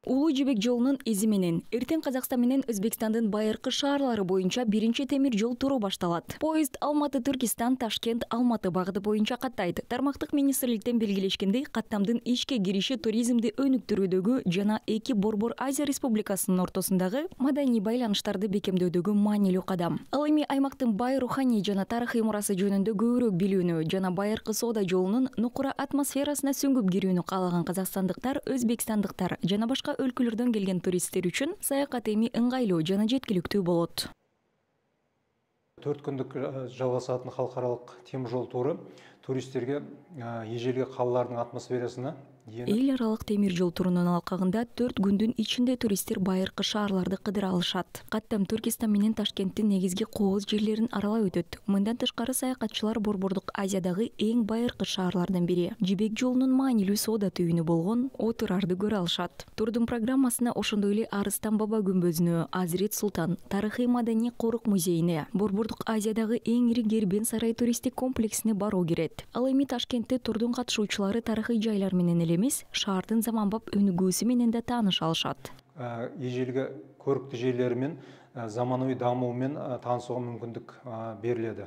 Улуу жибек жолунун изи менен эртең Казакстан менен Өзбекстандын байыркы шаарлары боюнча биринчи темир жол туру башталат. Поезд Алматы-Түркистан, Ташкент-Алматы багыты боюнча каттайт. Тармактык министрликтен белгилешкендей, каттамдын ишке кириши туризмди өнүктүрүүдөгү жана эки борбор Азия республикасынын ортосундагы маданий байланыштарды бекемдөөдөгү маанилүү кадам. Ал эми аймактын бай руханий жана тарыхый мурасы жөнүндө көбүрөөк билүүнү жана байыркы соода жолунун нукура атмосферасына сүңгүп кирүүнү каалаган казакстандыктар, өзбекстандыктар жана башка өлкөлөрдөн келген туристтер үчүн саякат эми ыңгайлуу жана жеткиликтүү болот. 4 күндүк жалгасатын халкаралык темир жол туру туристтерге эжелги каалардын атмосферасына Эл аралык темир жол турунун алкагында 4 күндүн ичинде туристтер байыркы шаарларды кыдыра алышат. Каттам Түркистан менен Ташкенттин негизги кооз жерлерин аралап өтөт. Мындан тышкары саякатчылар борбордук Азиядагы эң байыркы шаарлардын бири, жибек жолунун маанилүү соода түйүнү болгон Отурарды көрө алышат. Турдун программасына ошондой эле Арыстан Баба күмбөзүнө, Азирет Султан тарыхый маданий корук музейине, борбордук Азиядагы эң ири Кербен сарай туристтик комплексине баруу кирет. Ал эми Ташкентте турдун катышуучулары тарыхый жайлар менен эмес, шаардын заманбап өнүгүүсү менен да тааныша алышат. Ежелги көрүктүү жерлери менен заманауи дамуу менен таанышууга мүмкүндүк берилет.